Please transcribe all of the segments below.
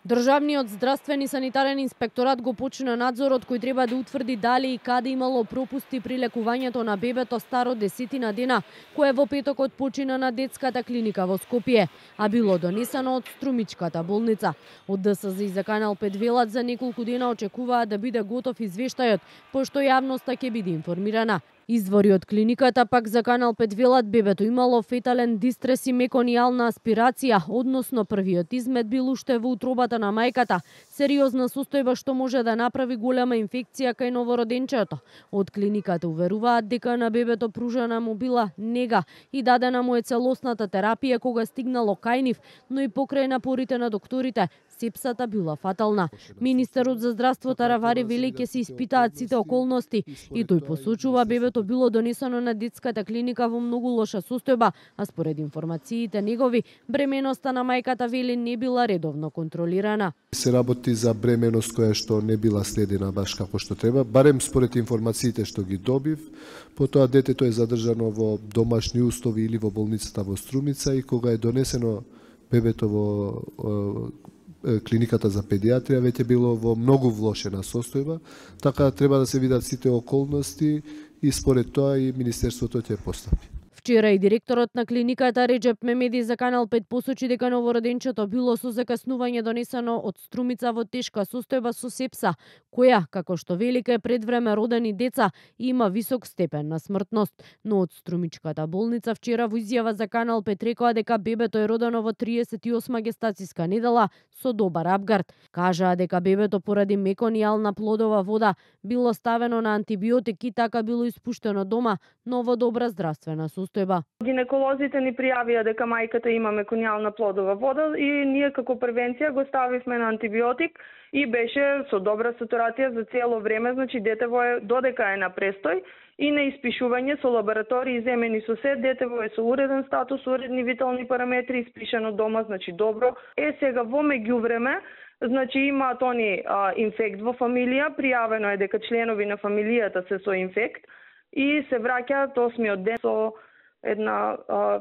Државниот здравствен и санитарен инспекторат го почина надзорот кој треба да утврди дали и каде имало пропусти при лекувањето на бебето старо 10 дена, кое во петокот почина на детската клиника во Скопје, а било донесено од Струмичката болница. Од ДСЗ и за Канал 5 велат за неколку дена очекуваат да биде готов извештајот, пошто јавноста ќе биде информирана. Извори од клиниката пак за Канал 5 велат бебето имало фетален дистрес и меконијална аспирација, односно првиот измет бил уште во утробата на мајката, сериозна состојба што може да направи голема инфекција кај новороденчето. Од клиниката уверуваат дека на бебето пружена му била нега и дадена му е целосната терапија кога стигнало кај нив, но и покрај напорите на докторите, сепсата била фатална. Министерот за здравство Таравари вели ќе се испитаат сите околности и тој посочува бебето било донесено на детската клиника во многу лоша состојба, а според информациите негови, бременоста на мајката вели не била редовно контролирана. Се работи за бременост која што не била следена баш како што треба, барем според информациите што ги добив. Потоа детето е задржано во домашни услови или во болницата во Струмица и кога е донесено бебето во клиниката за педиатрија веќе било во многу влошена состојба, така треба да се видат сите околности и според тоа и Министерството ќе постапи. Вчера и директорот на клиниката Реджеп Мемеди за Канал 5 посочи дека новороденчето било со закаснување донесено од Струмица во тешка состојба со сепса, која, како што вели кај предвреме родени деца, има висок степен на смртност. Но од Струмичката болница вчера во изјава за Канал 5 рекоа дека бебето е родено во 38 гестацијска недела со добар апгард. Кажаа дека бебето поради меконијална плодова вода било ставено на антибиотики, така било испуштено дома, но во добра здравствена состојба. Гинеколозите ни пријавија дека мајката има меконијална плодова вода и ние како превенција го ставивме на антибиотик и беше со добра сатурација за цело време, значи детево е додека е на престој и на испишување со лаборатории земени со се, детево е со уреден статус, уредни витални параметри, испишано дома, значи добро. Сега во меѓувреме, значи имаат они инфект во фамилија, пријавено е дека членови на фамилијата се со инфект и се враќаат 8-миот ден со една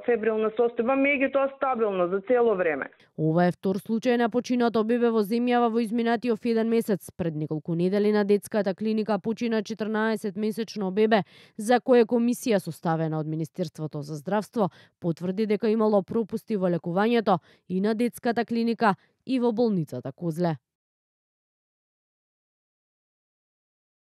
фебрилна состојба, меѓутоа стабилно за цело време. Ова е втор случај на починато бебе во земјава во изминатиот 1 месец. Пред неколку недели на детската клиника почина 14-месечно бебе, за кое комисија составена од Министерството за здравство потврди дека имало пропусти во лекувањето и на детската клиника и во болницата Козле.